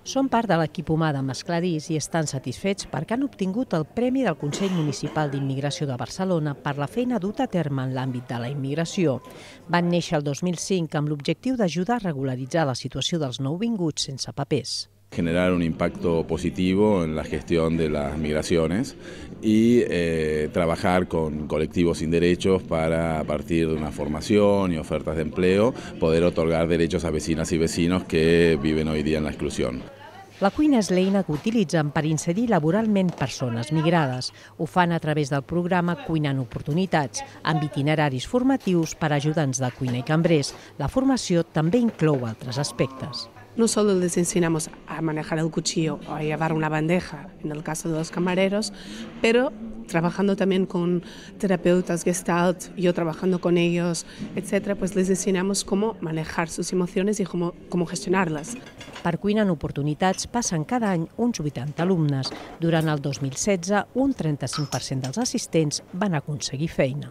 Són part de l'equip humà de Mescladís i estan satisfets perquè han obtingut el Premi del Consell Municipal d'Immigració de Barcelona per la feina duta a terme en l'àmbit de la immigració. Van néixer el 2005 amb l'objectiu d'ajudar a regularitzar la situació dels nouvinguts sense papers. Generar un impacto positivo en la gestión de las migraciones y trabajar con colectivos sin derechos para, a partir de una formación y ofertas de empleo, poder otorgar derechos a vecinas y vecinos que viven hoy día en la exclusión. La cuina és l'eina que utilitzen per inserir laboralment persones migrades. Ho fan a través del programa Cuinant Oportunitats, amb itineraris formatius per a ajudants de cuina i cambrers. La formació també inclou altres aspectes. No solo les enseñamos a manejar el cuchillo o a llevar una bandeja, en el caso de los camareros, pero trabajando también con terapeutas Gestalt, yo trabajando con ellos, etcétera, pues les enseñamos cómo manejar sus emociones y cómo gestionarlas. Per Cuinant Oportunitats passen cada any uns 80 alumnes. Durant el 2016, un 35% dels assistents van aconseguir feina.